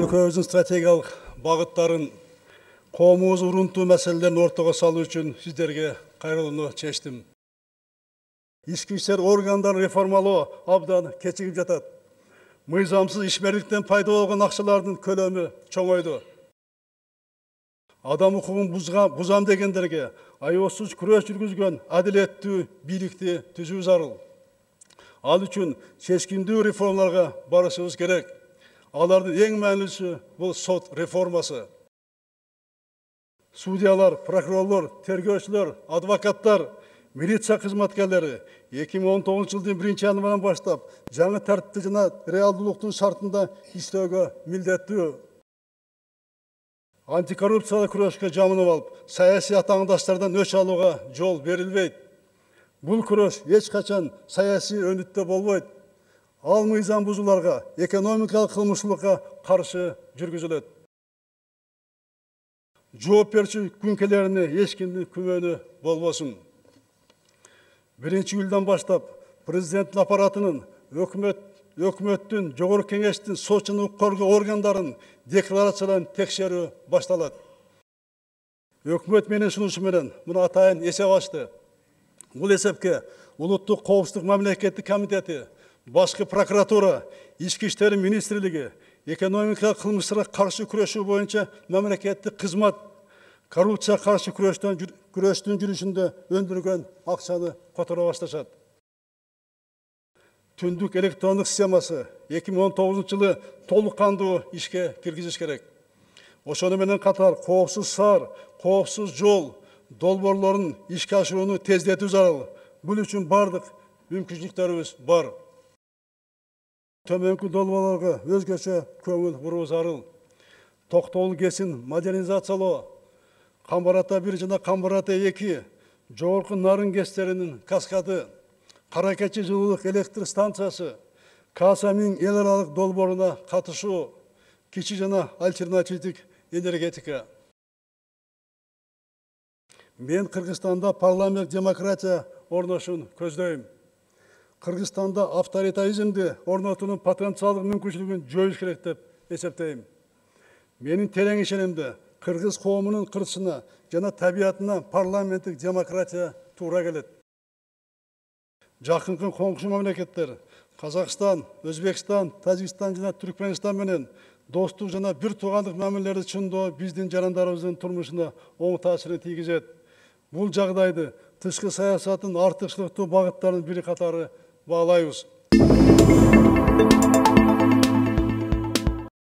өлкөбүздүн стратегиялык багыттарын, коомубуз урунтуу маселелерин ортого салуу үчүн сиздерге кайрылууну чечтим. Ички иштер органдарын реформалоо абдан кечигип жатат. Мыйзамсыз ишмерликтен пайда болгон акчалардын көлөмү чоңойду. Адам укугун бузам дегендерге аеосуз күрөш жүргүзгөн адилеттүү бийликти түзүү зарыл. Ал үчүн чечкиндүү реформаларга барышыбыз керек. Алардын эң маанилүүсү бул сот реформасы. Судьялар, прокурорлор, тергөөчүлөр, адвокаттар, милиция кызматкерлери 2019 жылдын 1-январынан баштап жаңы тартипте жана реалдуулуктун шартында иштөөгө милдеттүү. Антикоррупциялык күрөшкө жамынып алып, саясий атаңдаштардан өч алууга жол берилбейт. Бул күрөш эч качан саясий өнүттө болбойт. Ал мыйзам бузууларга, экономикалык кылмыштуулукка каршы жүргүзүлөт. Жоопкерчилик күнкелерине эч кимдин күмөнү болбосун. 1-июлдан баштап президенттин аппаратынын, өкмөттүн, жогорку кеңештин, сот жана укук коргоо органдарын декларацияларын текшерүү башталат. Өкмөт менин сунушу менен муну атайын эсеп ачты. Бул эсепке Улуттук коопсуздук мамлекеттик комитети, башкы прокуратура, Ички иштер министрлиги, экономикалык кылмыштарга каршы күрөшүү боюнча мамлекеттик кызмат, коррупцияга каршы күрөштүн жүрүшүндө өндүргөн акчаны которо башташат. Түндүк электрондук системасы 2019 жылы толук кандуу ишке киргизиш керек. Ошону менен катар коопсуз шаар, коопсуз жол долбоорлорун ишке ашырууну тездетүү зарыл. Бул үчүн бардык мүмкүнчүлүктөрүбүз бар. Төмөнкү долбоорлорго өзгөчө көңүл буруу зарыл. Токтогул КЭСин модернизациялоо, Камбар ата 1 жана Камбар ата 2, жогорку нарын КЭСтеринин каскады, Кара Keçи жылуулук электр станциясы, Каса-1000 эл аралык долбооруна катышуу, кичи жана альтернативдик энергетика. Мен Кыргызстанда парламент демократия орношун көздөйм. Кыргызстанда авторитаризмди орнотуунун потенциалдык мүмкүнчүлүгүн жоюш керек деп эсептейм. Менин терең ишенимде кыргыз коомунун кырсына жана табиятына парламенттик демократия туура келет. Жакынкы коңшу мамлекеттер Казакстан, Өзбекстан, Тажикстан жана Түркмөнстан менен достук жана бир туугандык мамилелерди чындоо биздин жарандарыбыздын турмушуна оң таасирин тийгизет. Бул жагдайды тышкы саясаттын артыкчылыктуу багыттарынын бири катары баалайбыз.